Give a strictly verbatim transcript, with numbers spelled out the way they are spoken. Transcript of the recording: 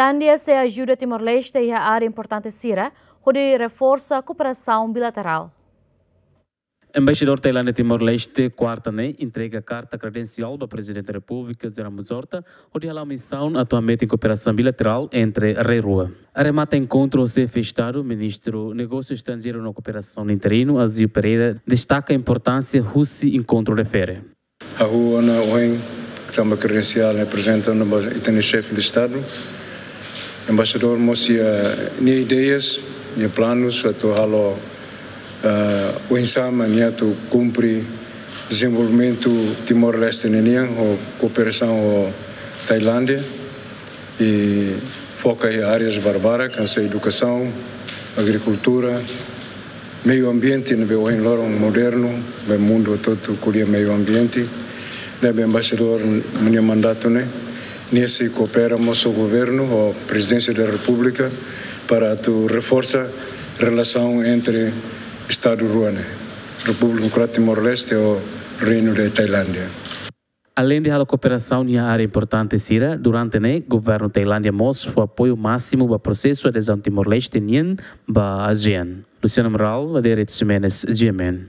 Tailándia sei ajuda Timor-Leste iha área importante sira, hodi reforsa kooperasaun bilaterál. Embaixadór Tailándia Timor-Leste, kuarta ne'e, entrega karta kredensiál ba Prezidente Repúblika, José Ramos Horta, hodi hala'o misaun atu hametin kooperasaun bilaterál entre rai rua. Arremata enkontru ho Xefe Estadu, Ministru Negósiu Estranjeiru no Kooperasaun interinu, Azil Pereira, destaka importánsia husi enkontru refere. Ha'u ona ohin, tanba kredensiál ne'e aprezenta ona ba ita-nia Xefe de Estadu. Embaixadór mós iha nia ideias, nia planus atu halo, ah, oinsá mak nia atu kumpre dezenvolvimentu Timor-Leste ninian ho kooperasaun ho Tailándia. I foka iha áreas barbarak, hanesan edukasaun, agrikultura, meiu ambiente, ne'ebé ohin loron modernu, ba mundu hotu-hotu ko'alia meiu ambiente. Ne'ebé embaixadór nia mandatu ne'e, nia sei koopera mós ho governu, ho Prezidénsia da Repúblika, para atu reforsa relasaun entre Estadu rua ne'e, Repúblika Demokrátika Timor-Leste ho Reinu de Tailándia. Aleinde halo kooperasaun iha área importante sira, durante ne'e, governu Tailándia mós fó apoiu másimu ba prosesu adezaun Timor-Leste nian ba ASEAN. Luciano Amaral, Adérito Ximenes, G M N.